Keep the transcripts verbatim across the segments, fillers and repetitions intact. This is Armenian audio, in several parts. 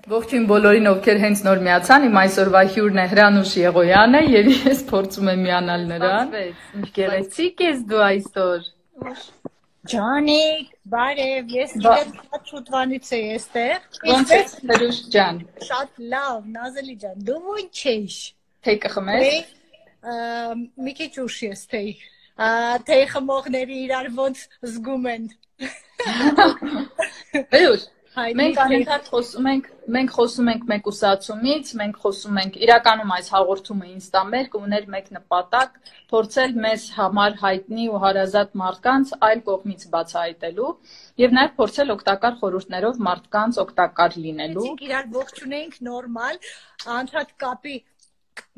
Ողջույն բոլորին, ովքեր հենց նոր միացան, իմ այսօրվա հյուրն է Հրանուշ Եղոյանը, եւ ես փորձում եմ միանալ նրան։ Ինչ գեղեցիկ ես դու այսօր։ Ջանիկ, բարև, ես իրեն շատ շուտվանից էի այստեղ։ Ոնց ես, Հրանուշ ջան։ Շատ լավ, Նազելի ջան, դու ո՞նց ես։ Թեյ կխմես։ Մի քիչ ուշ ես թեյ։ Թեյ խմողները իրար ոնց զգում են։ Հրանուշ, մենք անընդհատ խոսում ենք, մենք խոսում ենք մեկուսացումից, մենք խոսում ենք, իրականում այս հաղորդումը ինստամերկ ուներ մեկ նպատակ, փորձել մեզ համար հայտնի ու հարազատ մարդկանց այլ կողմից բացահայտելու եւ նաեւ փորձել օգտակար խորհուրդներով մարդկանց օգտակար լինելու։ Մենք իրար ողջունենք նորմալ, անդրադառ կապի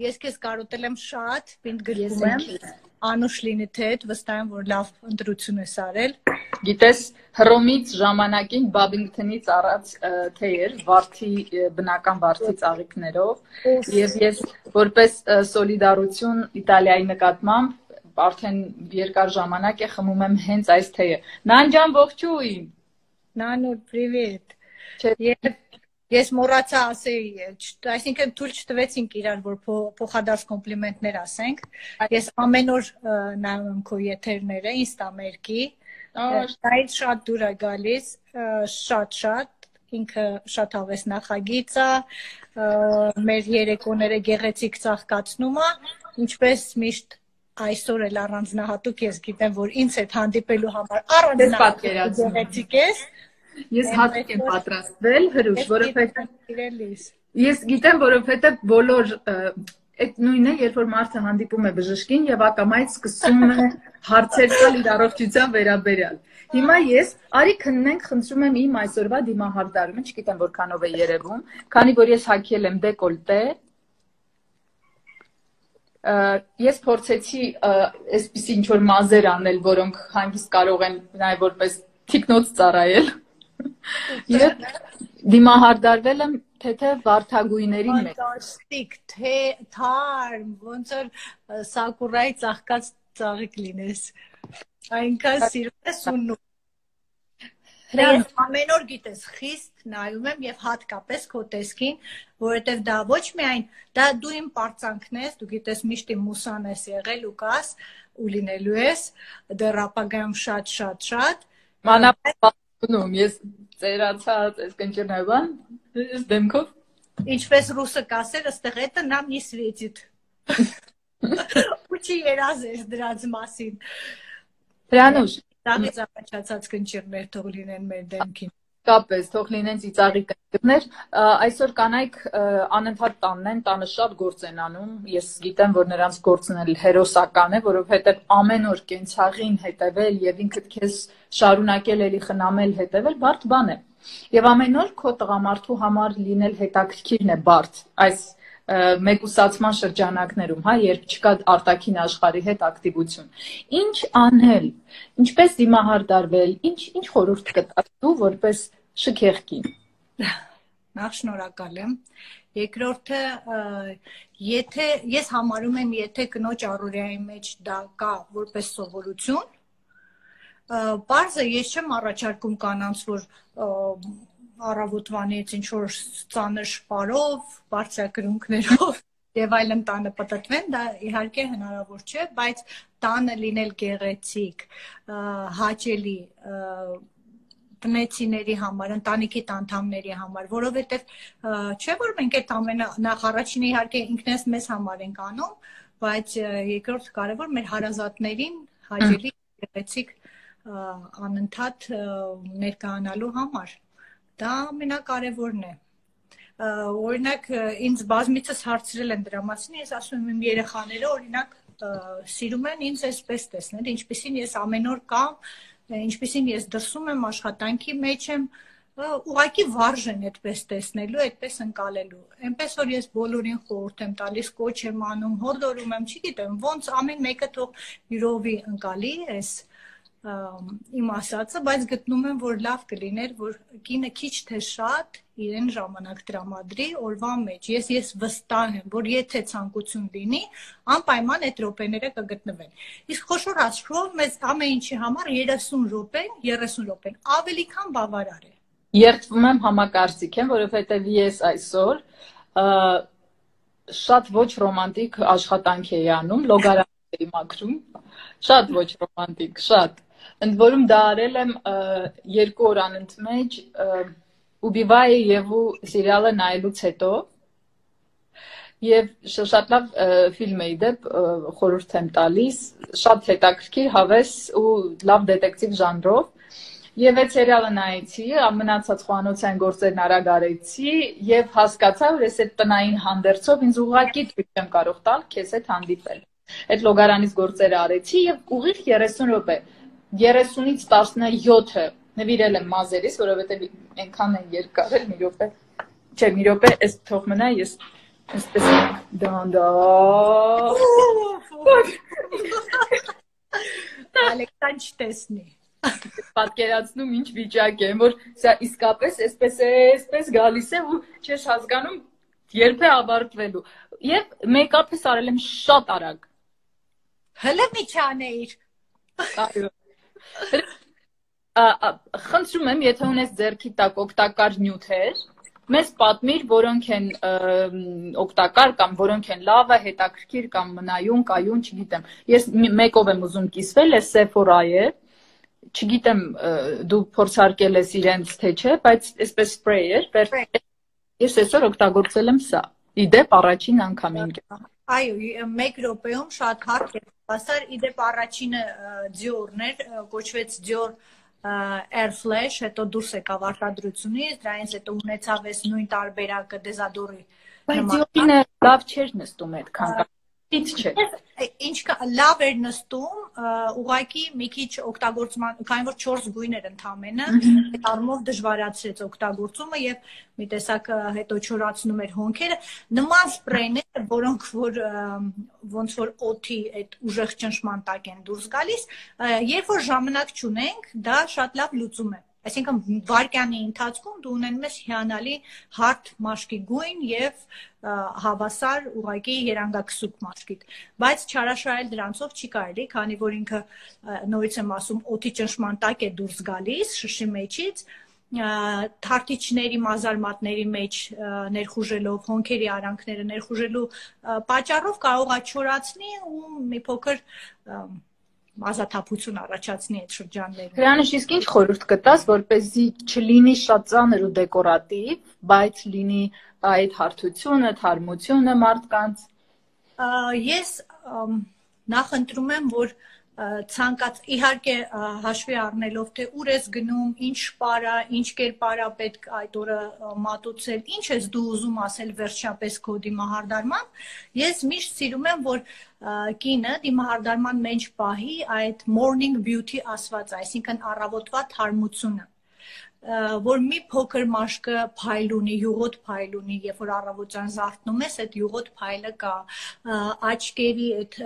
ես քեզ կարոտել եմ շատ, պինդ գրում եմ, Անուշ լինի թե հետ, վստահ եմ, որ լավ ընտրություն ես արել։ Գիտես, Հռոմից ժամանակին Բաբինգթոնից առած թե էր, վարդի, բնական վարդի ծաղիկներով, եւ ես որպես սոլիդարություն Իտալիայի նկատմամբ արդեն երկար ժամանակ է խմում եմ հենց այս թեյը։ Նան ջան, ողջույն։ Նանու, պրիվետ։ Ես մոռացա ասեի, այսինքն թույլ չտվեցինք իրար, որ փոխադարձ կոմպլիմենտներ ասենք։ Ես ամեն օր նայում եմ քո եթերները ինստամերկի։ Այդ շատ դուր է գալիս, շատ-շատ, ինքը շատ հավես նախագիծ է, մեր երեկոները գեղեցիկ ծաղկացնում է, ինչպես միշտ այսօր էլ առանձնահատուկ ես գիտեմ, որ ինձ հետ հանդիպելու համար առանձնահատուկ գեղեցիկ ես։ Ես հատուկ եմ պատրաստվել, Հրուշ, որովհետև ես գիտեմ, որովհետև բոլոր այդ նույնը, երբ որ մարդը հանդիպում է բժշկին եւ ակամայից սկսում է հարցեր տալ իր առողջության վերաբերյալ։ Հիմա ես արի քննենք, խնդրում եմ իմ այսօրվա դիմահարդարումը, չգիտեմ որքանով է երևում, քանի որ ես հագել եմ դեկոլտե, ես փորձեցի այսպիսի ինչ որ մազեր անել, որոնք հանգիստ կարող են նաեւ որպես թիկնոց ծառայել։ Եվ դիմահարդարվել եմ թեթև վարդագույների մեջ։ Ֆանտաստիկ, թե թարմ, ոնց որ սակուրայի ծաղկած ծաղիկ լինես։ Այնքան սիրում ես ունում։ Ես ամեն օր գիտես, խիստ նայում եմ եւ հատկապես քո տեսքին, որովհետեւ դա ոչ միայն դա դու իմ պարծանքն ես, դու գիտես միշտ իմ մուսան ես եղել ու կաս ու լինելու ես, դեռ ապագայում շատ-շատ-շատ։ Մանավանդ ես ծերացած, այս կնճռնայվան, ես դեմքով։ Ինչպես ռուսը կասել, ըստեղ էտը нам не светит։ Ու չի երազես դրանց մասին։ Հրանուշ, Տաղից առաջացած կնճիռներ թող լինեն մեր դեմքին։ Կապես, թող լինեն ծիծաղի կնճիռներ, այսօր կանայք անընդհատ տանն են, տանը շատ գործ են անում, ես գիտեմ, որ նրանց գործն էլ հերոսական է, որովհետև ամեն օր կենցաղին հետևել եւ ինքդ քեզ շարունակել էլի խնամել հետևել, բարդ բան է։ Եվ ամեն օր քո տղամարդու համար լինել հետաքրքիրն է բարդ, այս մեկուսացման շրջանակներում, հա, երբ չկա արտաքին աշխարհի հետ ակտիվություն։ Ինչ անել, ինչպես դիմահարդարվել, ինչ ինչ խորհուրդ կտաս դու որպես շքեղ կին։ Նախ շնորհակալ եմ։ Երկրորդը, եթե ես համարում եմ, եթե կնոջ առօրյայի մեջ դա կա որպես սովորություն, պարզը ես չեմ առաջարկում կանանց, որ առավոտվանից ինչ որ ծանր շպարով, բարձրակրունկներով եւ այլն տանը պտտվեն, դա իհարկե հնարավոր չէ, բայց տանը լինել գեղեցիկ, հաճելի տնեցիների համար, ընտանիքի անդամների համար, որովհետեւ չէ որ մենք այդ ամենը նախ առաջինը իհարկե ինքնես մեզ համար ենք անում, բայց երկրորդ կարևոր մեր հարազատներին հաճելի գեղեցիկ անընդհատ ներկայանալու համար։ Դա ամենակարևորն է։ Օրինակ, ինձ բազմիցս հարցրել են դրա մասին, ես ասում եմ իմ երեխաները, օրինակ, սիրում են ինձ այսպես տեսնել, ինչպեսին ես ամեն օր կամ, ինչպեսին ես դրսում եմ աշխատանքի մեջ եմ, ուղղակի վարժ են այդպես տեսնելու, այդպես ընկալելու։ Այնպես որ ես բոլորին խորհուրդ եմ տալիս, կոչ եմ անում, հորդորում եմ, չգիտեմ, ոնց ամեն մեկը թող յուրովի ընկալի այս իմ ասածը, բայց գտնում եմ, որ լավ կլիներ, որ կինը քիչ թե շատ իրեն ժամանակ տրամադրի օրվա մեջ։ Ես ես վստահ եմ, որ եթե ցանկություն լինի, անպայման այդ րոպեները կգտնվեն։ Իսկ խոշոր աշխարհով մեզ ամեն ինչի համար երեսուն րոպեն, երեսուն րոպեն ավելի քան բավարար է։ Երդվում եմ համակարծիք եմ, որովհետև ես այսօր շատ ոչ ռոմանտիկ աշխատանք էի անում, լոգարան էի մաքրում, շատ ոչ ռոմանտիկ, շատ։ Ընդ որում դա արել եմ երկու օր անընդմեջ Убивая Еву սիրիալը նայելուց հետո եւ շատ լավ ֆիլմ է իդեպ խորհուրդ եմ տալիս, շատ հետաքրքիր, հավես ու լավ դետեկտիվ ժանրով։ Եվ այդ սերիալը նայեցի, մնացած խոհանոցային գործերն արագ արեցի եւ հասկացա, որ ես այդ տնային հանդերձով ինձ ուղղակի թույլ չեմ կարող տալ քեզ հետ հանդիպել։ Այդ լոգարանից գործերը արեցի եւ ուղիղ երեսուն րոպե, երեսունից տասնյոթը նվիրել եմ մազերիս, որովհետեւ այնքան են երկար էլ մի րոպե։ Չէ, մի րոպե, այս թող մնա, ես այսպես դանդա։ Ալեքսան չտեսնի։ Պատկերացնում ինչ վիճակ է, որ սա իսկապես այսպես է, այսպես գալիս է ու չես հասկանում երբ է ավարտվելու։ Եվ մեյքափս արել եմ շատ արագ։ Հələ մի չանեիր։ Այո։ Խնդրում եմ, եթե ունես ձեռքի տակ օգտակար նյութեր, մեզ պատմիր, որոնք են օգտակար կամ որոնք են լավը, հետաքրքիր կամ մնայուն, կայուն, չգիտեմ։ Ես մեկով եմ ուզում կիսվել, այս Sephora-ը է։ Չգիտեմ դու փորձարկել ես իրենց թե չէ, բայց այսպես սպրեյ էր, ես այսօր օգտագործել եմ սա, իդեպ առաջին անգամին։ Այո, մեկ րոպեում շատ հարկ է հասար, իդեպ առաջինը Dior-ն էր, կոչվեց Dior Air Flash, հետո դուրս եկավ արտադրությունից, դրանից հետո ունեցավ այս նույն տարբերակը Desador-ի։ Բայց Dior-ը լավ չէր նստում այդքան։ Չէ։ Ինչ լավ էր նստում, ուղղակի մի քիչ օգտագործման, քանի որ չորս գույն էր ընդամենը, այդ առումով դժվարացրեց օգտագործումը եւ մի տեսակ հետո չորացնում էր հոնքերը, նման սպրեյներ, որոնք որ ոնց որ օդի այդ ուժեղ ճնշման տակ են դուրս գալիս, երբ որ ժամանակ չունենք, դա շատ լավ լուծում է։ Այսինքն վարկյանի ընթացքում դու ունենում ես հիանալի հարթ մաշկի գույն եւ հավասար ուղղակի երանգակսուկ մաշկիդ, բայց չարաշահել դրանցով չի կարելի, քանի որ ինքը նորից եմ ասում օդի ճնշման տակ է դուրս գալիս շշի մեջից, թարթիչների մազարմատների մեջ ներխուժելով, հոնքերի արանքները ներխուժելու պատճառով կարող է չորացնի ու մի փոքր ազատապություն առաջացնի այդ շրջաններում։ Հրանուշ, իսկ ինչ խորհուրդ կտաս, որպեսզի չլինի շատ ծանր ու դեկորատիվ, բայց լինի այդ հարթությունը, թարմությունը մարդկանց։ Ես նախընտրում եմ, որ ցանկաց իհարկե հաշվի առնելով թե ուր ես գնում, ինչ շպարա, ինչ կերպարա պետք այդ օրը մատուցել, ինչ ես դու ուզում ասել վերջապես քո դիմահարդարման, ես միշտ սիրում եմ, որ կինը դիմահարդարման մեջ պահի այդ morning beauty ասված, այսինքն առավոտվա թարմությունը, որ մի փոքր մաշկը փայլ ունի, յուղոտ փայլ ունի, երբ որ առավոտյան զարթնում ես, այդ յուղոտ փայլը կա, աչքերի այդ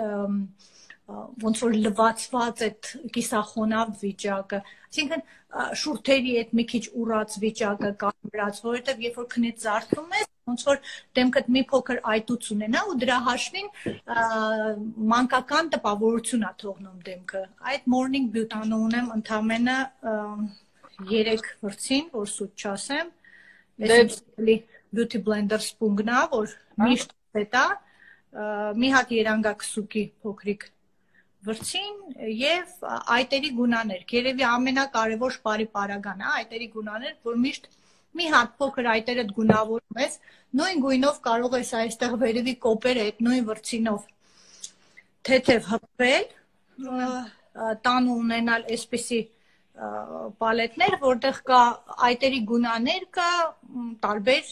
ոնց որ լվացված այդ կիսախոնավ վիճակը, այսինքն շուրթերի այդ մի քիչ ուռած վիճակը կարմրած, որովհետև երբ որ քնից զարթնում ես, ոնց որ դեմքդ մի փոքր այտուց ունենա ու դրա հաշվին մանկական տպավորություն է թողնում դեմքը։ Այդ morning beauty-ը ունեմ ընդամենը երեք վրցին, որ սուտ չասեմ, այսինքն beauty blender սպունգն է, որ միշտ հետա, մի հատ երանգակսուկի փոքրիկ վրցին եւ այտերի գունաներ, երևի ամենակարևոր շպարի պարագան է, այտերի գունաներ, որ միշտ մի հատ փոքր այտերդ գունավորում ես, նույն գույնով կարող ես այստեղ վերևի կոպերը այդ նույն վրցինով թեթև հպվել, տան ունենալ այսպիսի պալետներ, որտեղ կա այտերի գունաներ կա տարբեր,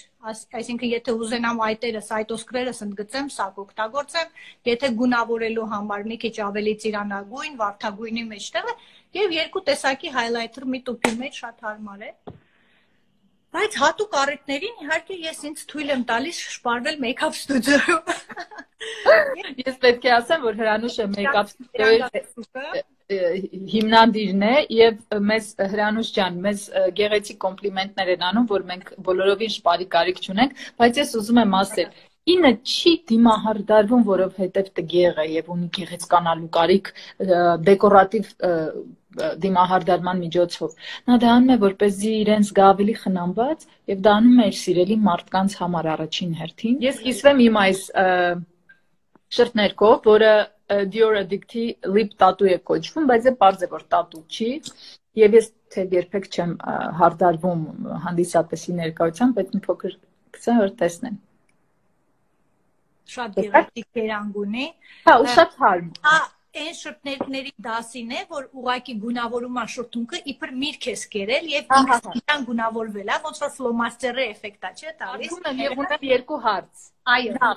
այսինքն եթե ուզենամ այտերս, այտոսկրերս ընդգծեմ, սա կօգտագործեմ, եթե գունավորելու համար մի քիչ ավելի ծիրանագույն, վարդագույնի մեջտեղը եւ երկու տեսակի հայլայթեր մի տուփի մեջ շատ հարմար է։ Բայց հատուկ առիթներին իհարկե ես ինձ թույլ եմ տալիս շպարվել մեյքափ ստուդիոյում։ Ես պետք է ասեմ, որ Հրանուշը մեյքափ ստուդիոյի հիմնադիրն է եւ մեզ Հրանուշ ջան, մեզ գեղեցիկ կոմպլիմենտներ են անում, որ մենք բոլորովին շպարի կարիք չունենք, բայց ես ուզում եմ ասել, ինը չի դիմահարդարվում, որովհետեւ տգեղ է եւ ունի գեղեցկանալու կարիք, դեկորատիվ դիմահարդարման միջոցով։ Նա դա անում է, որպեսզի իրեն զգա ավելի խնամված, եւ դա անում է իր սիրելի մարդկանց համար առաջին հերթին։ Ես կիսվեմ իմ այս շրթներկով, որը Dior Addict-ի lip tattoo է կոչվում, բայց է պարզ է, որ tattoo չի, եւ ես թե երբեք չեմ հարդարվում հանդիսատեսի ներկայությամբ, այդ մի փոքր կսա որ տեսնեմ։ Շատ գեղեցիկ կերանգ ունի։ Հա, ու շատ հարմ։ Հա, այն շրթներկների դասին է, որ ուղղակի գունավորում է շրթունքը, իբր միրգ ես կերել եւ ինքնին գունավորվել է, ոնց որ ֆլոմաստերի էֆեկտ է, չէ՞ տալիս։ Եվ ունեմ երկու հարց։ Այո։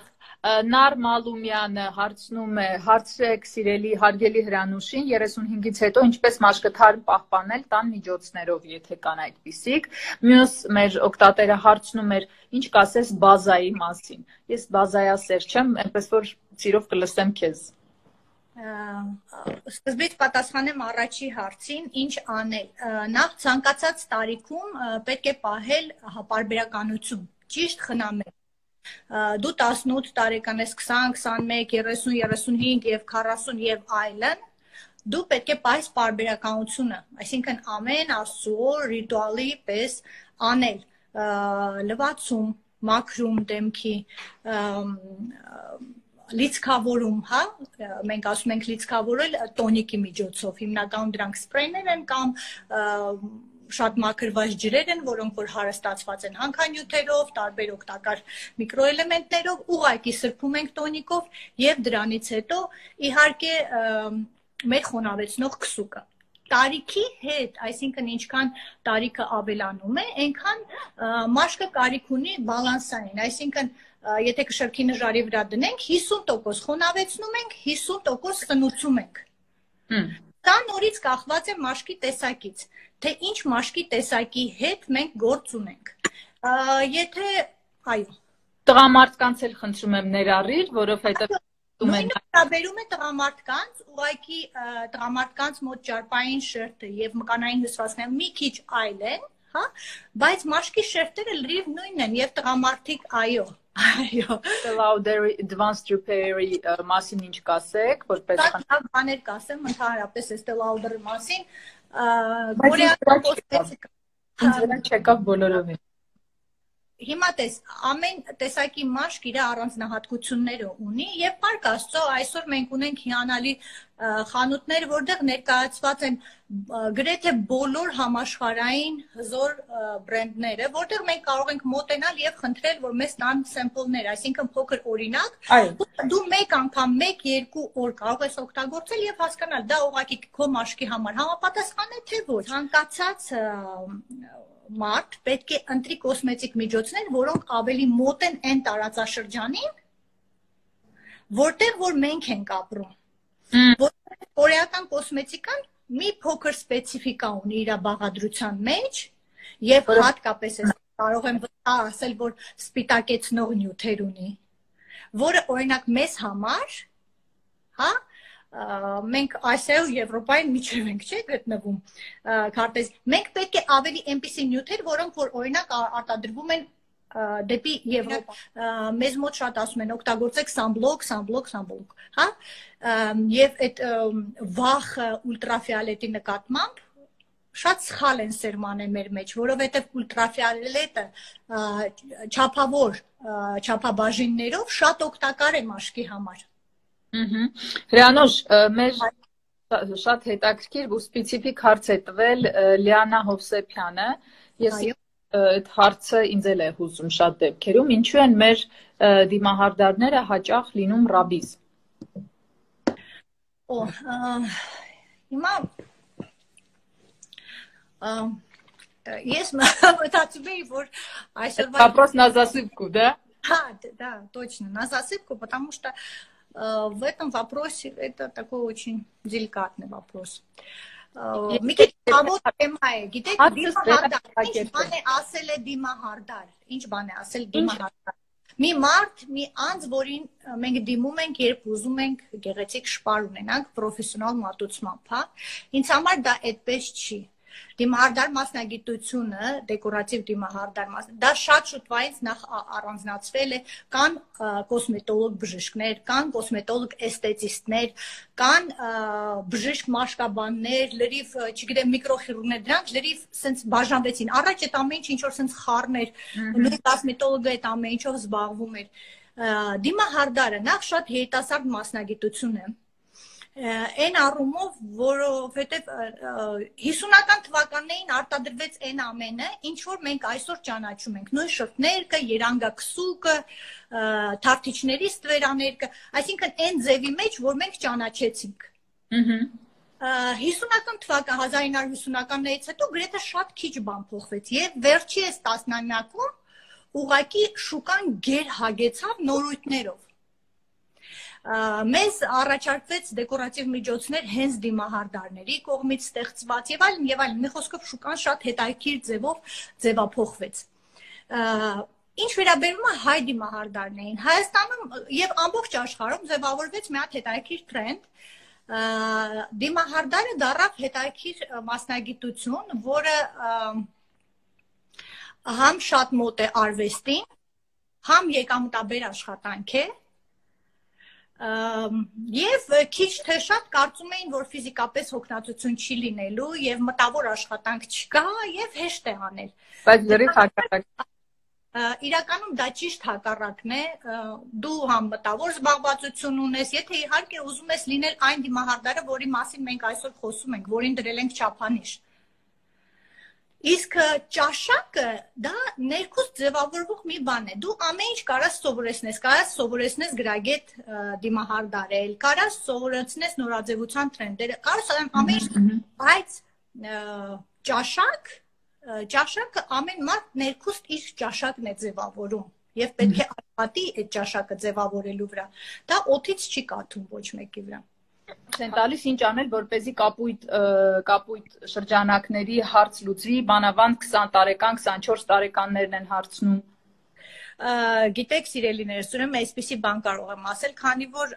Նար Մալումյանը հարցնում է, հարցրեք սիրելի հարգելի Հրանուշին, երեսունհինգից հետո ինչպես մաշկթարմ պահպանել տան միջոցներով, եթե կան այդպիսիք։ Մյուս մեր օգտատերը հարցնում էր, ինչ կասես բազայի մասին։ Ես բազայասեր չեմ, այնպես որ սիրով կլսեմ քեզ։ Սկզբից պատասխանեմ առաջի հարցին, ինչ անել։ Նախ ցանկացած տարիքում պետք է պահել պարբերականություն, ճիշտ խնամել։ Դու տասնութ տարեկան ես, քսան, քսանմեկ, երեսուն, երեսունհինգ եւ քառասուն եւ այլն, դու պետք է պահես պարբերականությունը, այսինքն ամեն աստծո ռիտուալի պես անել, լվացում, մաքրում դեմքի, լիցքավորում, հա, մենք ասում ենք լիցքավորել տոնիկի միջոցով, հիմնականում դրանք սպրեյներ են կամ շատ մաքրված ջրեր են, որոնք որ հարստացված են հանքանյութերով, տարբեր օգտակար միկրոէլեմենտներով, ուղղակի սրբում ենք տոնիկով եւ դրանից հետո իհարկե մեր խոնավեցնող քսուկը։ Տարիքի հետ, այսինքն ինչքան տարիքը ավելանում է, այնքան մաշկը կարիք ունի բալանսային, այսինքն եթե կշռքի նժարի վրա դնենք, հիսուն տոկոս խոնավեցնում ենք, հիսուն տոկոս խնուցում ենք։ Դա նորից կախված է մաշկի տեսակից, թե ինչ մաշկի տեսակի հետ մենք գործ ունենք։ Եթե, այո։ Տղամարդկանց էլ խնդրում եմ ներառիր, որովհետև նույնը վերաբերում է տղամարդկանց, ուղղակի տղամարդկանց մոտ ճարպային շերտը եւ մկանային հյուսվածքները մի քիչ այլ են, հա, բայց մաշկի շերտերը լրիվ նույնն են եւ տղամարդիկ այո։ Այո, Lauder Advanced Repair-ի մասին ինչ կասեք, որպես բաներ կասեմ ընդհանրապես Estée Lauder-ի մասին, կորեական կոսմետիկա։ Ինձ վրա չեկավ բոլորովին։ Հիմա տես, ամեն տեսակի մաշկ իր առանձնահատկությունները ունի եւ Փառք Աստծո այսօր մենք ունենք հիանալի խանութներ, որտեղ ներկայացված են գրեթե բոլոր համաշխարհային հզոր բրենդները, որտեղ մենք կարող ենք մոտենալ եւ խնդրել, որ մեզ տան սեմպլներ, այսինքն փոքր օրինակ, դու մեկ անգամ, մեկ-երկու օր կարող ես օգտագործել եւ հասկանալ, դա ուղղակի քո մաշկի համար համապատասխան է թե ոչ։ Ցանկացած մարդ պետք է ընտրի կոսմետիկ միջոցներ, որոնք ավելի մոտ են այն տարածաշրջանին, որտեղ որ մենք ենք ապրում։ Որտեղ կորեական կոսմետիկան մի փոքր սպეციფիկա ունի իր բաղադրության մեջ եւ հատկապես ես կարող եմ ասել, որ սպիտակեցնող նյութեր ունի, որը օրինակ մեզ համար, հա, մենք Ասիայում, Եվրոպայում միջև ենք, չէ՞ գտնվում, քարտեզ։ Մենք պետք է ավելի այնպիսի նյութեր, որոնք որ օրինակ արտադրվում են դեպի Եվրոպա։ Մեզ մոտ շատ ասում են, օգտագործեք սանբլոկ, սանբլոկ, սանբլոկ, հա։ Եվ այդ վախ ուլտրաֆիոլետի նկատմամբ շատ սխալ են սերմանել մեր մեջ, որովհետև ուլտրաֆիոլետը չափավոր չափաբաժիններով շատ օգտակար է մաշկի համար։ Հրանուշ, մեր շատ հետաքրքիր ու սպეციფիկ հարց է տվել Լիանա Հովսեփյանը, ես այդ հարցը ինձ էլ է հուզում շատ դեպքերում, ինչու են մեր դիմահարդարները հաճախ լինում ռաբիզ։ Օ, հիմա ես մտածում եմ, որ այսօրվա Вопрос на засыпку, да? Да, да, точно, на засыпку, потому что в этом вопросе это такой очень деликатный вопрос. Մի քիչ հավոտ թեմա է, գիտեք, դիմահարդար, ինչ բան է ասել է դիմահարդար, ինչ բան է ասել դիմահարդար։ Մի մարդ, մի անձ, որին մենք դիմում ենք, երբ ուզում ենք գեղեցիկ շպար ունենանք պրոֆեսիոնալ մատուցմամբ, հա։ Ինձ համար դա այդպես չի։ Դիմահարդար մասնագիտությունը, դեկորատիվ դիմահարդար մասնագիտությունը, դա շատ շուտվայից նախ առանձնացվել է, կան կոսմետոլոգ բժիշկներ, կան կոսմետոլոգ էսթետիստներ, կան բժիշկ մաշկաբաններ, լրիվ, չգիտեմ, միկրոխիրուրգներ, դրանք լրիվ սենց բաժանվեցին։ Առաջ այդ ամեն ինչ ինչ որ սենց խառներ, նույն կոսմետոլոգը այդ ամեն ինչով զբաղվում էր։ Դիմահարդարը նախ շատ երիտասարդ մասնագիտություն է։ Այն առումով, որովհետև հիսունական թվականներին արտադրվեց այն ամենը, ինչ որ մենք այսօր ճանաչում ենք, նույն շրթներկը, երանգաքսուկը, թավթիչների ստվերաներկը, այսինքն այն ձևի մեջ, որ մենք ճանաչեցինք։ Հիսունական թվական, հազար ինը հարյուր ութանականներից հետո գրեթե շատ քիչ բան փոխվեց եւ վերջի այս տասնամյակում ուղղակի շուկան գերհագեցավ նորույթներով։ Մեզ առաջարկվեց դեկորատիվ միջոցներ հենց դիմահարդարների կողմից ստեղծված եւ այլն եւ այլն, մի խոսքով շուկան շատ հետաքրքիր ձևով ձևափոխվեց։ Ինչ վերաբերում է հայ դիմահարդարներին, Հայաստանում եւ ամբողջ աշխարհում ձևավորվեց մի հատ հետաքրքիր տրենդ, դիմահարդարը դառավ հետաքրքիր մասնագիտություն, որը համ շատ մոտ է արվեստին, համ եկամտաբեր աշխատանք է, եւ քիչ թե շատ կարծում էին, որ ֆիզիկապես հոգնածություն չի լինելու եւ մտավոր աշխատանք չկա եւ հեշտ է անել։ Բայց դեռ հակառակ։ Իրականում դա ճիշտ հակառակն է, դու համ մտավոր զբաղվածություն ունես, եթե իհարկե ուզում ես լինել այն դիմահարդարը, որի մասին մենք այսօր խոսում ենք, որին դրել ենք չափանիշ։ Իսկ ճաշակը դա ներքուստ ձևավորվող մի բան է։ Դու ամեն ինչ կարաս սովորեցնես, կարաս սովորեցնես գրագետ դիմահարդարել, կարաս սովորեցնես նորաձևության տրենդերը, կարաս ամեն ինչ, բայց ճաշակ, ճաշակը ամեն մարդ ներքուստ իր ճաշակն է ձևավորում եւ պետք է աշխատի այդ ճաշակը ձևավորելու վրա։ Դա օդից չի կաթում ոչ մեկի վրա։ Են տալիս ինչ անել, որպեսզի կապույտ կապույտ շրջանակների հարց լուծվի, բանավանդ քսան տարեկան, քսանչորս տարեկաններն են հարցնում։ Գիտեք, սիրելիներս, ուրեմն այսպիսի բան կարող եմ ասել, քանի որ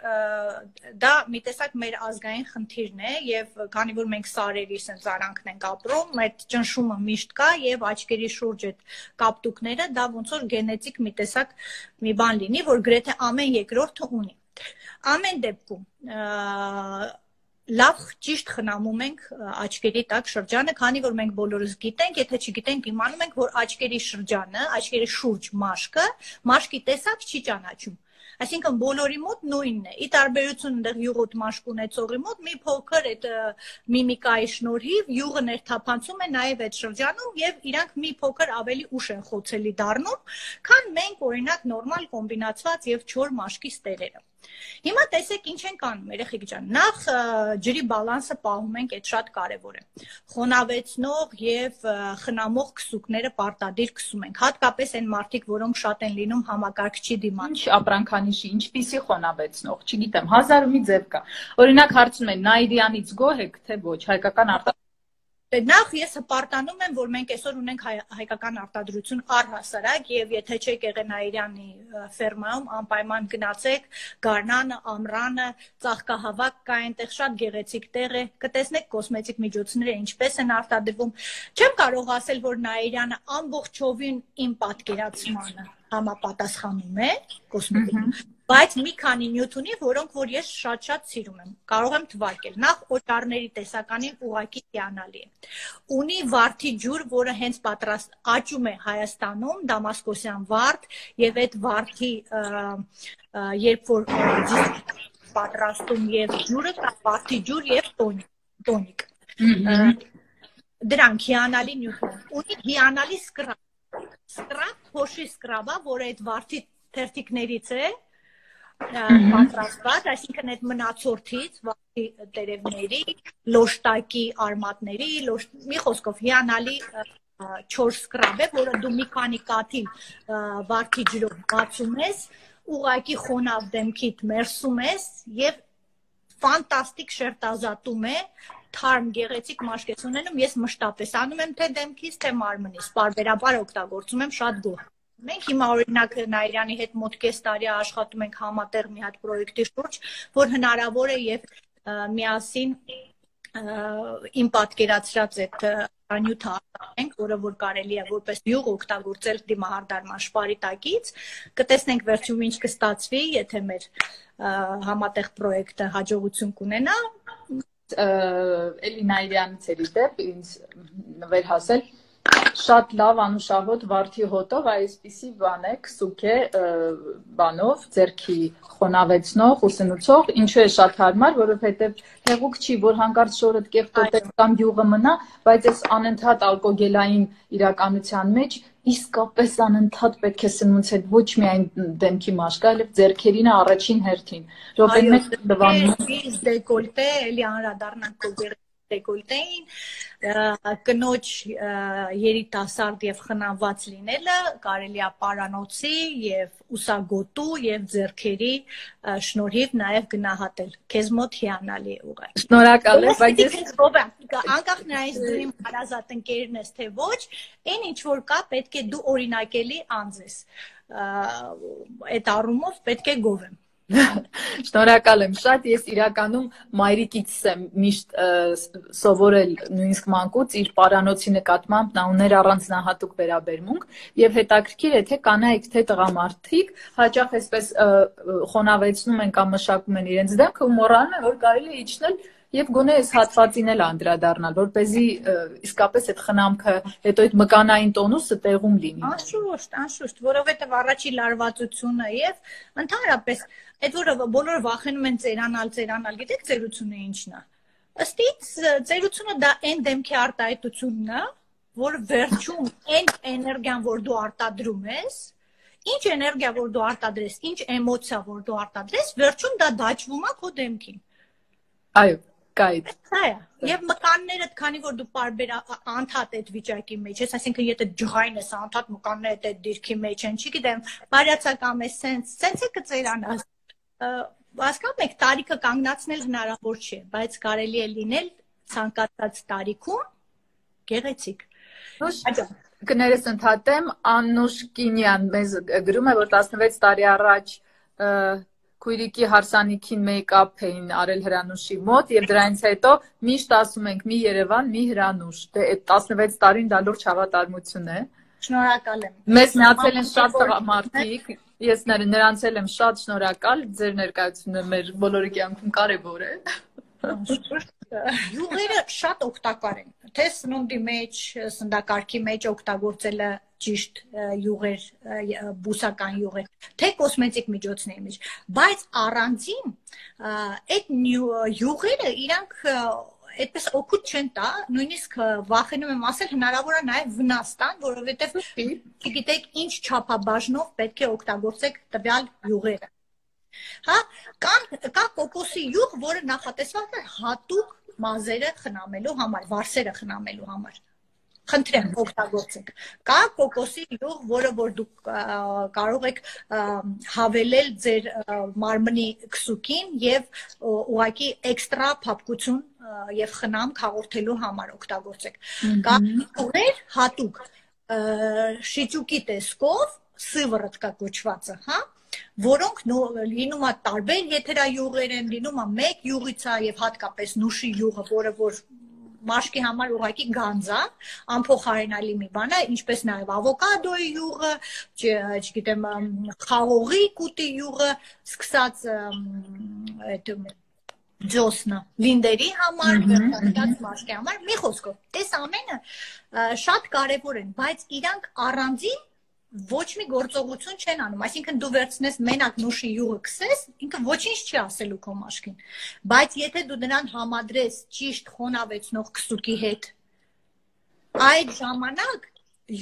դա մի տեսակ մեր ազգային խնդիրն է եւ քանի որ մենք սարերի sense արանքն ենք ապրում, այդ ճնշումը միշտ կա եւ աչքերի շուրջ այդ կապտուկները, դա ոնց որ գենետիկ մի տեսակ մի բան լինի, որ գրեթե ամեն երկրորդը ունի։ Ամեն դեպքում լավ ճիշտ խնամում ենք աչքերի տակ շրջանը, քանի որ մենք բոլորս գիտենք, եթե չգիտենք, իմանում ենք, որ աչքերի շրջանը, աչքերի շուրջ մաշկը, մաշկի տեսակ չի ճանաչում։ Այսինքն բոլորի մոտ նույնն է։ Ի տարբերություն այնտեղ յուղոտ մաշկ ունեցողի մոտ մի փոքր այդ միմիկայի շնորհիվ յուղը ներթափանցում է նաև այդ շրջանում եւ իրանք մի փոքր ավելի ուշ են խոցելի դառնում, քան մենք օրինակ նորմալ կոմբինացված եւ չոր մաշկի ստերերը։ Հիմա տեսեք ինչ ենք անում, երեխեք ջան, նախ ջրի բալանսը պահում ենք, այդ շատ կարևոր է։ Խոնավեցնող եւ խնամող քսուկները պարտադիր քսում ենք, հատկապես այն մարդիկ, որոնք շատ են լինում համակարգչի դիմաց։ Ինչ ապրանքանիշի, ինչպիսի խոնավեցնող, չգիտեմ, հազար ու մի ձև կա։ Օրինակ հարցնում են Նայիրյանից գոհ եք, թե ոչ, հայկական արտադրություն։ Նախ ես հպարտանում եմ, որ մենք այսօր ունենք հայկական արտադրություն առհասարակ եւ եթե չեք եղել Նայիրյանի ֆերմայում, անպայման գնացեք, Գարնանը, Ամրանը, Ծաղկահավաք կա այնտեղ շատ գեղեցիկ տեղ է, կտեսնեք կոսմետիկ միջոցները ինչպես են արտադրվում։ Չեմ կարող ասել, որ Նայիրյանը ամբողջովին իմ պատկերացմանը համապատասխանում է կոսմետիկ, բայց մի քանի նյութ ունի, որոնք որ ես շատ-շատ սիրում եմ, կարող եմ թվարկել։ Նախ օճառների տեսականին ուղղակի հիանալի է։ Ունի վարդի ջուր, որը հենց պատրաստ աճում է Հայաստանում, դամասկոսյան վարդ, եւ այդ վարդի երբ որ պատրաստում եւ ջուրը կա վարդի ջուր եւ տոնիկ։ Դրանք հիանալի նյութ են։ Ունի հիանալի սկրաբ։ Սկրաբ, փոշի սկրաբա, որը այդ վարդի թերթիկներից է պատրաստված, այսինքն այդ մնացորդից, վարդի տերևների, լոշտակի արմատների, մի խոսքով հիանալի չոր սկրաբ է, որը դու մի քանի կաթիլ վարդի ջրով բացում ես, ուղղակի խոնավ դեմքիդ մերսում ես եւ ֆանտաստիկ շերտազատում է, թարմ գեղեցիկ մաշկ ես ունենում, ես մշտապես անում եմ թե դեմքից, թե մարմնից, պարբերաբար օգտագործում եմ շատ գոհ։ Մենք հիմա օրինակ Նայիրյանի հետ մոտ կես տարի աշխատում ենք համատեղ մի հատ պրոյեկտի շուրջ, որ հնարավոր է եւ միասին իմ պատկերացրած այդ անյութը արտանենք, որը որ կարելի է որպես յուղ օգտագործել դիմահարդարման շպարիտակից, կտեսնենք վերջում ինչ կստացվի, եթե մեր համատեղ պրոյեկտը հաջողություն կունենա։ Էլինա Իրյանցերի դեպ ինձ նվեր հասել շատ լավ անուշահոտ վարդի հոտով այսպիսի բան է, քսուք է բանով, ձերքի խոնավեցնող, ուսնուցող, ինչու է շատ հարմար, որովհետև հեղուկ չի, որ հանկարծ շորդ կեղտոտես կամ յուղը մնա, բայց այս անընդհատ ալկոգելային իրականության մեջ իսկապես անընդհատ պետք է սնունց հետ ոչ միայն դեմքի մաշկը, այլև ձերքերին առաջին հերթին։ Րոպեն մեկ դվանում դեկոլտե, էլի անդրադառնանք քո դեկոլտեին, կնոջ երիտասարդ եւ խնամված լինելը կարելի է պարանոցի եւ ուսագոտու եւ ձեռքերի շնորհիվ նաեւ գնահատել։ Քեզ մոտ հիանալի է ուղղակի։ Շնորհակալ եմ, բայց ես անկախ նրանից դու իմ հարազատ ընկերն ես թե ոչ, այն ինչ որ կա պետք է դու օրինակելի անձ ես։ Այդ առումով պետք է գովեմ։ Շնորհակալ եմ շատ, ես իրականում մայրիկից եմ միշտ սովորել նույնիսկ մանկուց իր պարանոցի նկատմամբ նա ուներ առանձնահատուկ վերաբերմունք եւ հետաքրքիր է թե կանայք թե տղամարդիկ հաճախ այսպես խոնավեցնում են կամ մշակում են իրենց դեմքը ու մոռանում են որ կարելի է իջնել Եվ գոնե այս հատվածին էլ անդրադառնալ, որպեսզի իսկապես այդ խնամքը, հետո այդ մկանային տոնուսը տեղում լինի։ Անշուշտ, անշուշտ, որովհետև առաջի լարվածությունը եւ ընդհանրապես այդ որը բոլորը վախենում են ծերանալ, ծերանալ, գիտեք ծերությունը ինչն է։ Ըստ ից ծերությունը դա այն դեմքի արտահայտությունն է, որ վերջում այն էներգիան, որ դու արտադրում ես, ինչ էներգիա, որ դու արտադրես, ինչ էմոցիա, որ դու արտադրես, վերջում դա դաջվում է քո դեմքին։ Այո, կայդ։ Այո, եւ մկաններդ, քանի որ դու բարբեր անդհատ այդ վիճակի մեջ ես, այսինքն եթե ջղայն ես, անդհատ մկաններդ այդ դիրքի մեջ են, չգիտեմ, բարյացակամ է, սենց, սենց է կծերանաս։ Հասկանում եք, տարիքը կանգնացնել հնարավոր չէ, բայց կարելի է լինել ցանկացած տարիքում գեղեցիկ։ Կներես ընդհատեմ, Աննուշ Կինյան մեզ գրում է, որ տասնվեց տարի առաջ քույրիկի հարսանիքին մեյքափ էին արել Հրանուշի մոտ եւ դրանից հետո միշտ ասում ենք մի Երևան, մի Հրանուշ։ Դե այդ տասնվեց տարին դա լուրջ հավատարմություն է։ Շնորհակալ եմ։ Մեզ միացել են շատ տղամարդիկ, ես նրանց էլ եմ շատ շնորհակալ, ձեր ներկայությունը մեր բոլորի կյանքում կարևոր է։ Յուղերը շատ օգտակար են, թե սնունդի մեջ, սննդակարգի մեջ օգտագործելը ճիշտ յուղեր, բուսական յուղեր, թե կոսմետիկ միջոցների մեջ, բայց առանձին այդ յուղերը իրանք այդպես օգուտ չեն տա, նույնիսկ վախենում եմ ասել հնարավոր է նաև վնաս տան, որովհետև չգիտեք ինչ չափաբաժնով պետք է օգտագործեք տվյալ յուղերը։ Հա, կան կա կոկոսի յուղ, որը նախատեսված է հատուկ մազերը խնամելու համար, վարսերը խնամելու համար։ Խնդրեմ օգտագործեք։ Կա կոկոսի յուղ, որը որ դուք կարող եք հավելել ձեր մարմնի քսուկին եւ ուղղակի էքստրա փափկություն եւ խնամք հաղորդելու համար օգտագործեք։ Կա յուղեր հատուկ շիճուկի տեսքով, սիվրոտկա կոչվածը, հա, որոնք լինում է տարբեր եթերայուղեր են, լինում է մեկ յուղից է եւ հատկապես նուշի յուղը, որը որ մաշկի համար ուղղակի գանձ է, անփոխարինելի մի բան է, ինչպես նաև ավոկադոյի յուղը, չգիտեմ, խաղողի կուտի յուղը, սկսած այդ ջոսնը, լինդերի համար, վերջացած մաշկի համար, մի խոսքով, տես ամենը շատ կարևոր են, բայց իրանք առանձին ոչ մի գործողություն չեն անում, այսինքն դու վերցնես մենակ նուշի յուղը քսես, ինքը ոչինչ չի ասելու քո մաշկին, բայց եթե դու նրան համադրես ճիշտ խոնավեցնող քսուկի հետ, այդ ժամանակ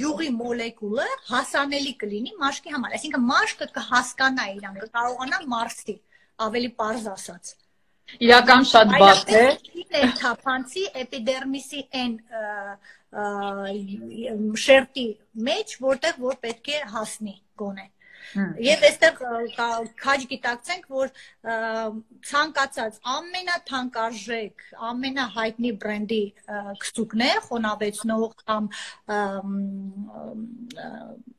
յուղի մոլեկուլը հասանելի կլինի մաշկի համար, այսինքն մաշկը կհասկանա իրան, կկարողանա մարսի, ավելի պարզ ասած։ Իրական շատ բարդ է։ Թափանցի էպիդերմիսի այն շերտի մեջ, որտեղ որ պետք է հասնի գոնե։ Եվ այստեղ քաջ գիտակցենք, որ ցանկացած ամենաթանկարժեք, ամենահայտնի բրենդի քսուկներ, խոնավեցնող կամ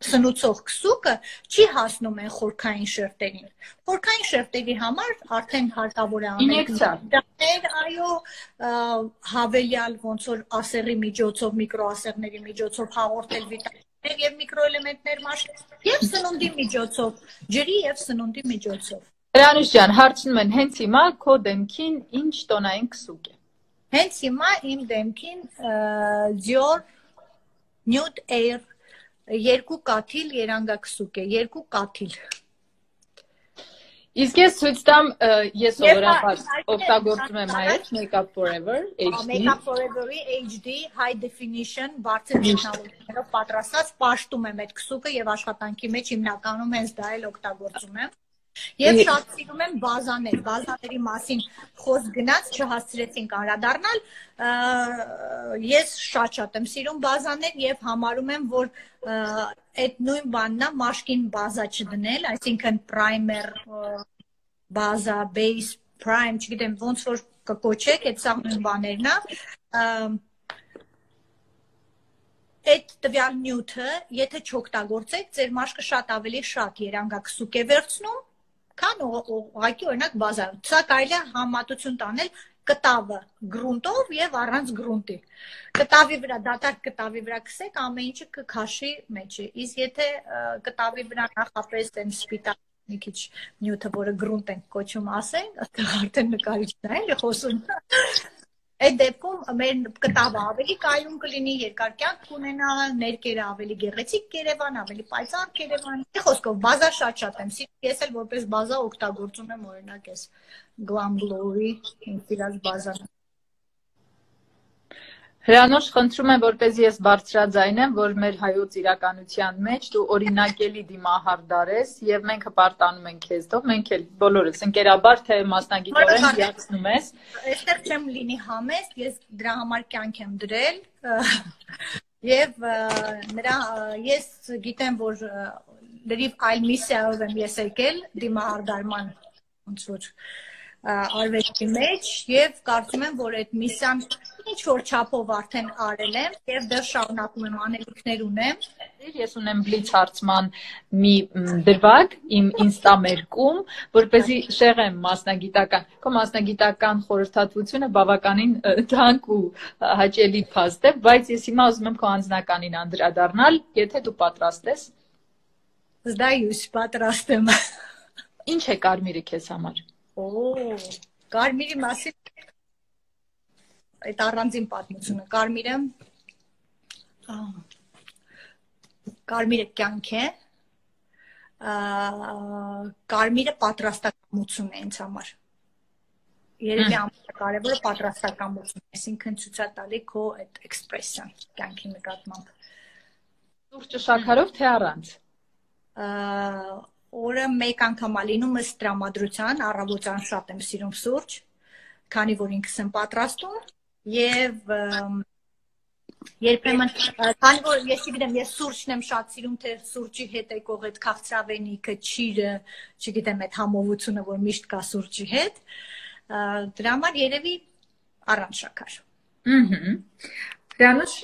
սնուցող քսուկը չի հասնում են խորքային շերտերին։ Խորքային շերտերի համար արդեն հարկավոր է անել, այո, հավելյալ ոնց որ ասեղի միջոցով, միկրոասեղների միջոցով հաղորդել վիտամիններ եւ միկրոէլեմենտներ մաշկել, եւ սնունդի միջոցով, ջրի եւ սնունդի միջոցով։ Հրանուշ ջան, հարցնում են հենց հիմա քո դեմքին ինչ տոնային քսուկ է։ Հենց հիմա իմ դեմքին Dior Nude Air երկու կաթիլ երանգաքսուկ է, երկու կաթիլ։ Իսկ ես ցույց տամ, ես սովորաբար օգտագործում եմ այդ Makeup Forever H D։ Makeup Forever-ի H D high definition բարձր տեխնոլոգիաներով պատրաստած պաշտում եմ այդ քսուկը եւ աշխատանքի մեջ հիմնականում հենց դա էլ օգտագործում եմ։ Եվ շատ սիրում եմ բազաներ, բազաների մասին խոսք գնաց, չհասցրեցինք անդրադառնալ, ես շատ-շատ եմ սիրում բազաներ եւ համարում եմ, որ այդ նույն բանն է մաշկին բազա չդնել, այսինքն primer, բազա, base, prime, չգիտեմ ոնց որ կկոչեք, այդ սա նույն բաներն է։ Այդ տվյալ նյութը, եթե չօգտագործեք, ձեր մաշկը շատ ավելի շատ երանգաքսուկ է վերցնում, քան ուղղակի օրինակ բազա։ Սա կարելի է համեմատություն տանել կտավը գրունտով եւ առանց գրունտի։ Կտավի վրա, դատարկ կտավի վրա քսեք, ամեն ինչը կքաշի մեջը։ Իսկ եթե կտավի վրա նախապես այն սպիտակ մի քիչ նյութը, որը գրունտ ենք կոչում, ասենք, արդեն նկարիչն է, էլի խոսում։ Այդ դեպքում մեր կտավը ավելի կայուն կլինի, երկար կյանք կունենա, ներկերը ավելի գեղեցիկ կերևան, ավելի պայծառ կերևան։ Մի խոսքով, բազա շատ-շատ եմ սիրում, ես էլ որպես բազա օգտագործում եմ օրինակ այս Glam Glow-ի իմ սիրած բազան։ Հրանուշ, խնդրում եմ, որպեսզի ես բարձրաձայնեմ, որ մեր հայոց իրականության մեջ դու օրինակելի դիմահարդար ես եւ մենք հպարտանում ենք քեզով, մենք էլ բոլորս ընկերաբար թե մասնագիտորեն հիացնում ես։ Այստեղ չեմ լինի համեստ, ես դրա համար կյանք եմ դրել եւ նրա ես գիտեմ, որ լրիվ այլ միսիայով եմ ես եկել դիմահարդարման ոնց որ արվեստի մեջ եւ կարծում եմ, որ այդ միսիան ինչ որ չափով արդեն արել եմ եւ դեռ շարունակում եմ անելիքներ ունեմ։ Ես ունեմ բլից հարցման մի դրվագ իմ ինստամերկում, որպեսզի շեղեմ մասնագիտական, քո մասնագիտական խորհրդատվությունը բավականին թանկ ու հաճելի փաստ է, բայց ես հիմա ուզում եմ քո անձնականին անդրադառնալ, եթե դու պատրաստ ես։ Զդայուս պատրաստ եմ։ Ինչ է կարմիրը քեզ համար։ Օ, կարմիրի մասին այդ առանձին պատմությունը, կարմիրը կարմիրը կյանք է, կարմիրը պատրաստակամություն է ինձ համար, երևի ամենակարևորը պատրաստակամություն, այսինքն ցուցատալի քո այդ էքսպրեսիան կյանքի նկատմամբ։ Սուրճը շաքարով թե առանց։ Օրը մեկ անգամ ալինում ըստ տրամադրության, առավոտյան շատ եմ սիրում սուրճ, քանի որ ինքս եմ պատրաստում եւ երբեմն քանի որ ես չգիտեմ, ես սուրճն եմ շատ սիրում, թե սուրճի հետ եկող այդ քաղցրավենիքը, ճիրը, չգիտեմ, այդ համովությունը, որ միշտ կա սուրճի հետ, դրա համար երևի առանց շաքար։ Ահա։ Հրանուշ,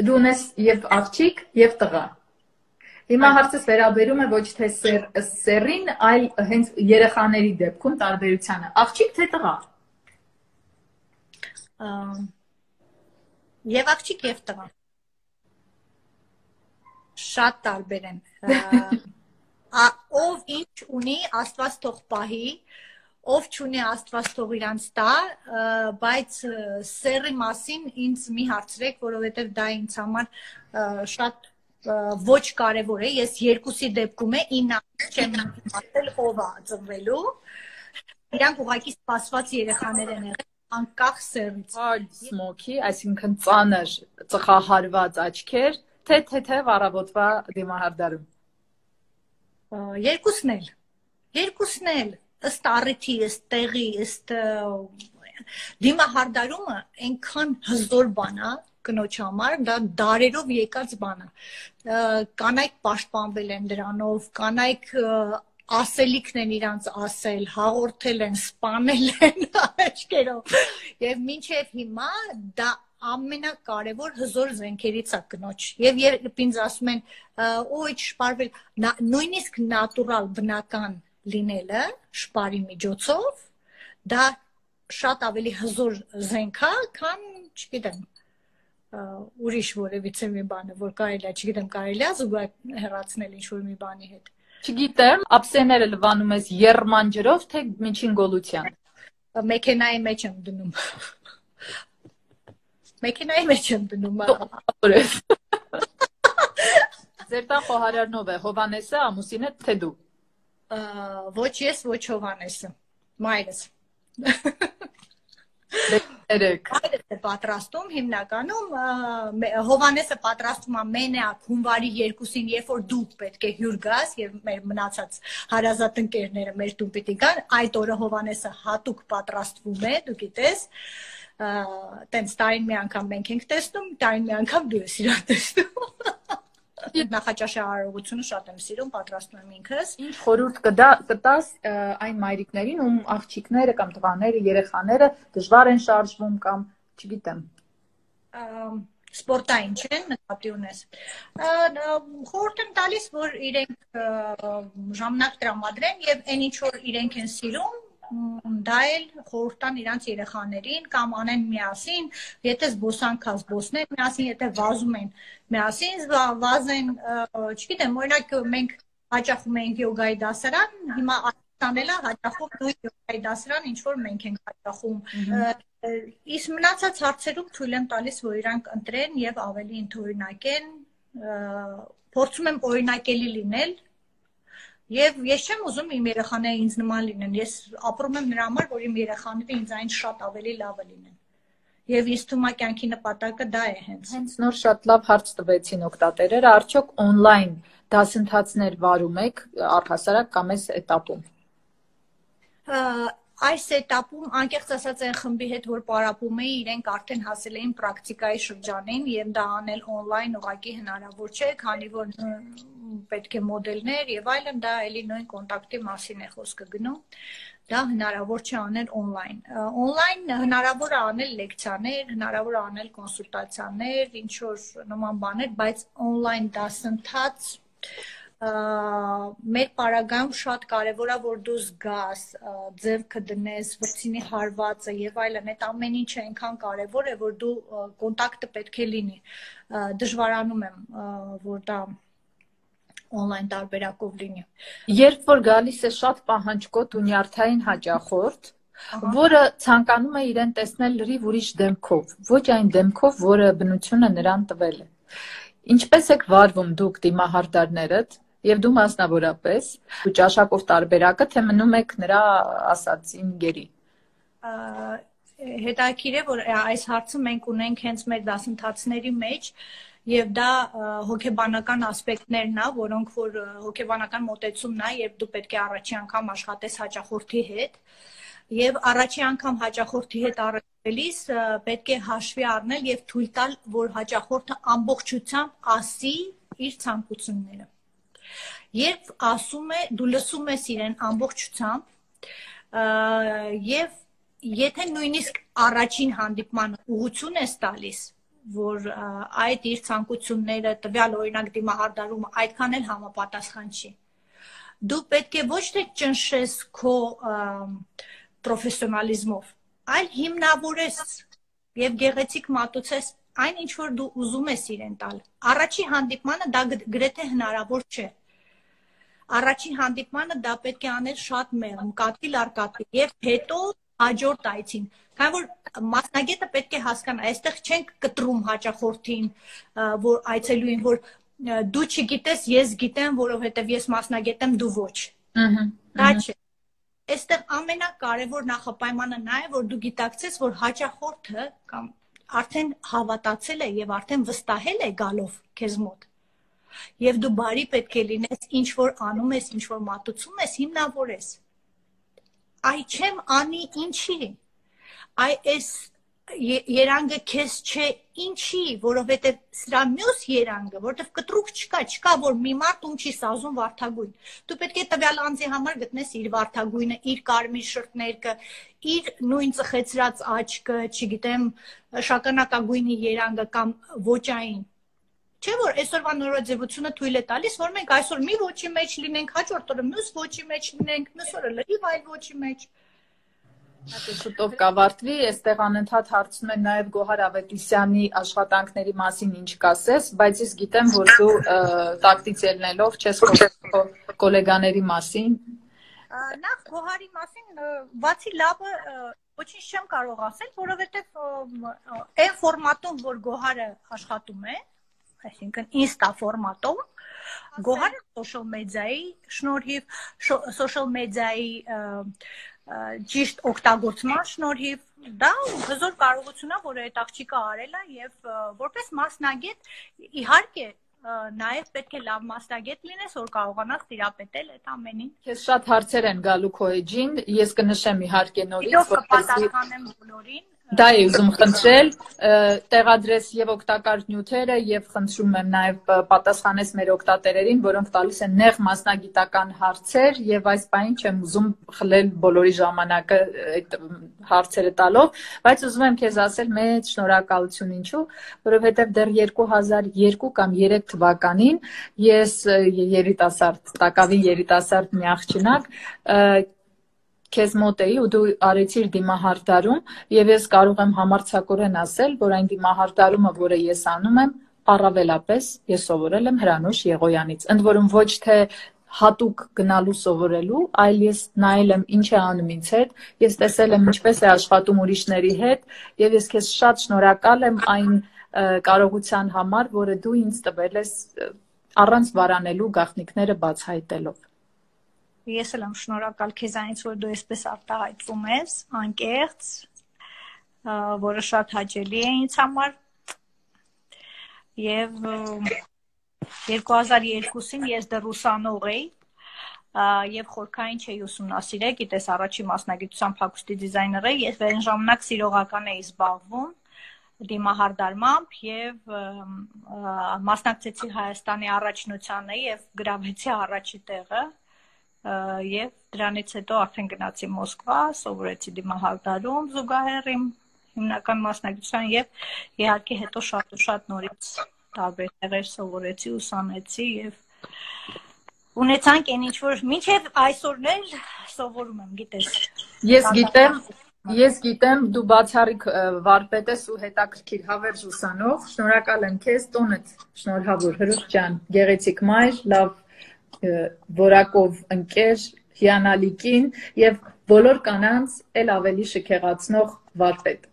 դու ունես եւ աղջիկ եւ տղա։ Հիմա հարցս վերաբերում է ոչ թե սեռին, այլ հենց երեխաների դեպքում տարբերությանը։ Աղջիկ թե տղա։ Եվ աղջիկ եւ տղա։ Շատ տարբեր են։ Ով ինչ ունի, Աստված թող պահի, ով չունի, Աստված թող իրանց տա, բայց սեռի մասին ինձ մի հարցրեք, որովհետեւ դա ինձ համար շատ ոչ կարևոր է, ես երկուսի դեպքում է ինը չեմ իմացել ով է ծնվելու, իրանք ուղղակի սպասված երեխաներ են եղել անկախ սեռից։ Սմոքի, այսինքն ծանր ծխահարված աչքեր, թե թեթև առավոտվա դիմահարդարում։ Երկուսն էլ, երկուսն էլ, ըստ առիթի, ըստ տեղի, ըստ դիմահարդարումը այնքան հզոր բան է, կնոջ համար դա դարերով եկած բան է։ Կանայք պաշտպանվել են դրանով, կանայք ասելիքն են իրանց ասել, հաղորդել են, սպանել են աչքերով։ Եվ մինչև հիմա դա ամենակարևոր հզոր զենքերից է կնոջ։ Եվ երբ ինձ ասում են, օ, շպարվել, նույնիսկ նատուրալ բնական լինելը շպարի միջոցով, դա շատ ավելի հզոր զենք է, քան, չգիտեմ, ուրիշ որևիցե մի բանը, որ կարելի է, չգիտեմ, կարելի է զուգահեռ հեռացնել ինչ-որ մի բանի հետ։ Չգիտեմ, ափսեները լվանում ես եռման ջրով, թե միջին գոլության։ Մեքենայի մեջ եմ դնում։ Մեքենայի մեջ եմ դնում։ Ձեր տան խոհարարնով է Հովանեսը, ամուսինը, թե դու։ Ոչ ես, ոչ Հովանեսը, մայրս։ Երեք։ Մայրս է պատրաստում, հիմնականում Հովանեսը պատրաստում է մենակ հունվարի երկուսին, երբ որ դու պետք է հյուր գաս եւ մեր մնացած հարազատ ընկերները մեր տուն պիտի գան, այդ օրը Հովանեսը հատուկ պատրաստվում է, դու գիտես, տենց տարին մի անգամ մենք ենք տեսնում, տարին մի անգամ դու ես իրան տեսնում։ Նախաճաշի արարողությունը շատ եմ սիրում, պատրաստում եմ ինքս։ Ինչ խորհուրդ կտաս այն մայրիկներին, ում աղջիկները կամ տղաները, երեխաները դժվար են շարժվում կամ, չգիտեմ, սպորտային չեն, նկատի ունես։ Խորհուրդ եմ տալիս, որ իրենք ժամանակ տրամադրեն եւ այն ինչ որ իրենք են սիրում, դա էլ խորհուրդ տան իրանց երեխաներին կամ անեն միասին, եթե զբոսանք կա զբոսնեն միասին, եթե վազում են միասին վազեն, չգիտեմ, օրինակ մենք հաճախում ենք յոգայի դասարան, հիմա Տանելա հաճախում նույն յոգայի դասարան, ինչ որ մենք ենք հաճախում։ Իսկ մնացած հարցերում թույլ եմ տալիս, որ իրանք ընտրեն եւ ավելի ընդօրինակեն, փորձում եմ օրինակելի լինել։ Եվ ես չեմ ուզում իմ երեխաները ինձ նման լինեն, ես ապրում եմ նրա համար, որ իմ երեխաները ինձանից շատ ավելի լավը լինեն։ Եվ ինձ թվում է կյանքի նպատակը դա է հենց։ Հենց նոր շատ լավ հարց տվեցին օգտատերերը, արդյոք օնլայն դասընթացներ վարում եք առհասարակ կամ այս էտապում։ Այս էտապում անկեղծ ասած այն խմբի հետ, որ պարապում էի, իրենք արդեն հասել էին պրակտիկայի շրջանին եւ դա անել օնլայն ուղղակի հնարավոր չէ, քանի որ պետք է մոդելներ եւ այլն, դա էլի նույն կոնտակտի մասին է խոսքը գնում։ Դա հնարավոր չէ անել օնլայն։ Օնլայն հնարավոր է անել լեկցիաներ, հնարավոր է անել կոնսուլտացիաներ, ինչ որ նման բաներ, բայց օնլայն դասընթաց մեր պարագայում շատ կարևոր է, որ դու զգաս, ձեռքը դնես, վրձինի հարվածը եւ այլն, այդ ամեն ինչը այնքան կարևոր է, որ դու կոնտակտը պետք է լինի։ Դժվարանում եմ, որ դա օնլայն տարբերակով լինի։ Երբ որ գալիս է շատ պահանջկոտ ու նյարդային հաճախորդ, որը ցանկանում է իրեն տեսնել լրիվ ուրիշ դեմքով, ոչ այն դեմքով, որը բնությունը նրան տվել է։ Ինչպես եք վարվում դուք դիմահարդարներդ եւ դու մասնավորապես, ու ճաշակով տարբերակը, թե մնում եք նրա ասածին գերի։ Հետաքրքիր է, որ այս հարցը մենք ունենք հենց մեր դասընթացների մեջ, եւ դա հոգեբանական ասպեկտներն է, որոնք որ հոգեբանական մոտեցումն է, երբ դու պետք է առաջի անգամ աշխատես հաճախորդի հետ, եւ առաջի անգամ հաճախորդի հետ առաջվելիս պետք է հաշվի առնել եւ թույլ տալ, որ հաճախորդը ամբողջությամբ ասի իր ցանկությունները։ Երբ ասում է, դու լսում ես իրեն ամբողջությամբ, եւ եթե նույնիսկ առաջին հանդիպման ուղղություն ես տալիս, որ այդ իր ցանկությունները տվյալ օրինակ դիմահարդարումը այդքան էլ համապատասխան չի, դու պետք է ոչ թե ճնշես քո պրոֆեսիոնալիզմով, այլ հիմնավորես եւ գեղեցիկ մատուցես այն, ինչ որ դու ուզում ես իրեն տալ։ Առաջի հանդիպմանը դա գրեթե հնարավոր չէ։ Առաջին հանդիպմանը դա պետք է անել շատ մեղմ, կատվիլ առ կատվիլ, եւ հետո հաջորդ այցին։ Քանի որ մասնագետը պետք է հասկանա, այստեղ չենք կտրում հաճախորդին, որ այցելուին, որ դու չգիտես, ես գիտեմ, որովհետեւ ես մասնագետ եմ, դու ոչ։ Դա չէ։ Այստեղ ամենակարևոր նախապայմանը նա է, որ դու գիտակցես, որ հաճախորդը կամ արդեն հավատացել է եւ արդեն վստահել է գալով քեզ մոտ։ Եվ դու բարի պետք է լինես, ինչ որ անում ես, ինչ որ մատուցում ես, հիմնավորես։ Այ չեմ անի ինչի։ Այ էս երանգը քեզ չէ, ինչի, որովհետև սրա մյուս երանգը, որովհետև կտրուկ չկա, չկա, որ մի մարդ ում չի սազում վարդագույն։ Դու պետք է տվյալ անձի համար գտնես իր վարդագույնը, իր կարմիր շրթներկը, իր նույն ծխեցրած աչքը, չգիտեմ, շագանակագույնի երանգը կամ ոճային։ Չէ՞ որ այսօրվա նորաձևությունը թույլ է տալիս, որ մենք այսօր մի ոճի մեջ լինենք, հաջորդ օրը մյուս ոճի մեջ լինենք, մյուս օրը լրիվ այլ ոճի մեջ։ Շուտով կավարտվի, այստեղ անընդհատ հարցնում են նաև Գոհար Ավետիսյանի աշխատանքների մասին ինչ կասես, բայց ես գիտեմ, որ դու տակտից ելնելով չես խոսում գոլեգաների մասին։ Նախ Գոհարի մասին բացի լավը ոչինչ չեմ կարող ասել, որովհետև այն ֆորմատում, որ Գոհարը աշխատում է, այսինքն ինստա ֆորմատում, Գոհարը social մեդիայի շնորհիվ, social մեդիայի ճիշտ օգտագործման շնորհիվ դա հզոր կարողություն է, որ այդ աղջիկը արել է եւ որպես մասնագետ իհարկե նաև պետք է լավ մասնագետ լինես, որ կարողանաս տիրապետել այդ ամենին։ Քեզ շատ հարցեր են գալու քո էջին, ես կնշեմ իհարկե նորից, որպեսզի կպատասխանեմ բոլորին։ Դա է ուզում խնդրել, տեղադրես եւ օգտակար նյութերը եւ խնդրում եմ նաեւ պատասխանես մեր օգտատերերին, որոնք տալիս են նեղ մասնագիտական հարցեր եւ այս բանին չեմ ուզում խլել բոլորի ժամանակը այդ հարցերը տալով, բայց ուզում եմ քեզ ասել մեծ շնորհակալություն ինչու, որովհետեւ դեռ երկու հազար երկու կամ երեք թվականին ես երիտասարդ, տակավին երիտասարդ մի աղջնակ քեզ մոտ էի ու դու արեցիր դիմահարդարում եւ ես կարող եմ համարձակորեն ասել, որ այն դիմահարդարումը, որը ես անում եմ, առավելապես ես սովորել եմ Հրանուշ Եղոյանից, ընդ որում ոչ թե հատուկ գնալու սովորելու, այլ ես նայել եմ ինչ է անում ինձ հետ, ես տեսել եմ ինչպես է աշխատում ուրիշների հետ եւ ես քեզ շատ շնորհակալ եմ այն կարողության համար, որը դու ինձ տվել ես առանց վարանելու գաղտնիքները բացահայտելով։ Ես էլ եմ շնորհակալ քեզանից, որ դու այսպես արտահայտվում ես, անկեղծ, որը շատ հաճելի է ինձ համար։ Եվ երկու հազար երկուսին ես դեռ ուսանող էի եւ խորքային չէի ուսումնասիրել, գիտես առաջի մասնագիտությամբ հագուստի դիզայներ էի, ես այն ժամանակ սիրողական էի զբաղվում դիմահարդարմամբ եւ մասնակցեցի Հայաստանի առաջնությանը եւ գրավեցի առաջի տեղը եւ դրանից հետո արդեն գնացի Մոսկվա, սովորեցի դիմահարդարում զուգահեռ իմ հիմնական մասնագիտության եւ իհարկե հետո շատ ու շատ նորից տարբեր տեղեր սովորեցի, ուսանեցի եւ ունեցանք այն ինչ որ մինչեւ այսօրն էլ սովորում եմ, գիտես։ Ես գիտեմ, ես գիտեմ, դու բացառիկ վարպետ ես ու հետաքրքիր հավերժ ուսանող, շնորհակալ եմ քեզ, տոնդ շնորհավոր Հրուշ ջան, գեղեցիկ մայր, լավ որակով ընկեր, հիանալի կին եւ բոլոր կանանց էլ ավելի շքեղացնող վարպետ։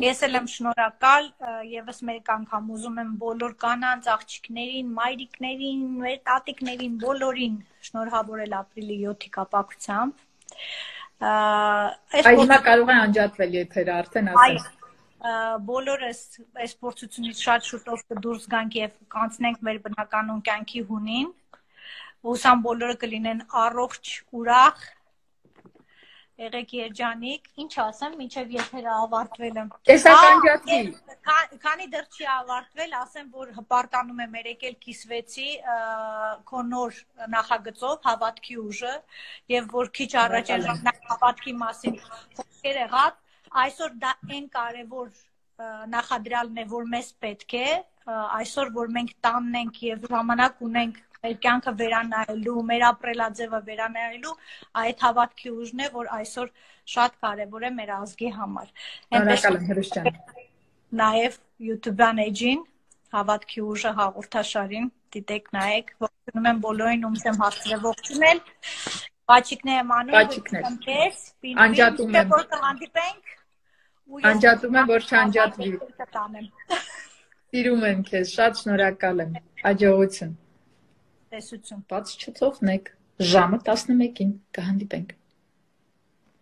Ես էլ եմ շնորհակալ, եւս մեկ անգամ ուզում եմ բոլոր կանանց, աղջիկներին, մայրիկներին, մեր տատիկներին, բոլորին շնորհավորել ապրիլի յոթի կապակցությամբ։ Այս հիմա կարող է անջատվել եթերը արդեն ասեմ։ Բոլորս այս փորձությունից շատ շուտով կդուրս գանք եւ կանցնենք մեր բնականոն կյանքի հունին։ Ուսամ բոլորը կլինեն առողջ, ուրախ, եղեք երջանիկ, ինչ ասեմ, մինչև եթերը ավարտվել եմ։ Տեսա կանջատվի։ Քանի դեռ չի ավարտվել, ասեմ, որ հպարտանում եմ երեկել կիսվեցի քո նոր նախագծով հավատքի ուժը եւ որ քիչ առաջ էլ հավատքի մասին խոսքեր եղած, այսօր դա այն կարևոր նախադրյալն է, որ մեզ պետք է, այսօր որ մենք տանն ենք եւ ժամանակ ունենք մեր կյանքը վերանայելու, մեր ապրելաձևը վերանայելու, այդ հավատքի ուժն է, որ այսօր շատ կարևոր է մեր ազգի համար։ Շնորհակալ եմ Հրուշ ջան։ Նաեւ YouTube-ան էջին հավատքի ուժը հաղորդաշարին դիտեք, նայեք, ողջունում եմ բոլորին, ումս եմ հասցրել ողջունել։ Պաչիկներ եմ անում, քեզ, անջատում եմ։ Որ կհանդիպենք։ Անջատում եմ, որ չանջատվի։ Սիրում եմ քեզ, շատ շնորհակալ եմ։ Հաջողություն։ Տեսություն։ Բաց չթողնեք, ժամը տասնմեկին կհանդիպենք։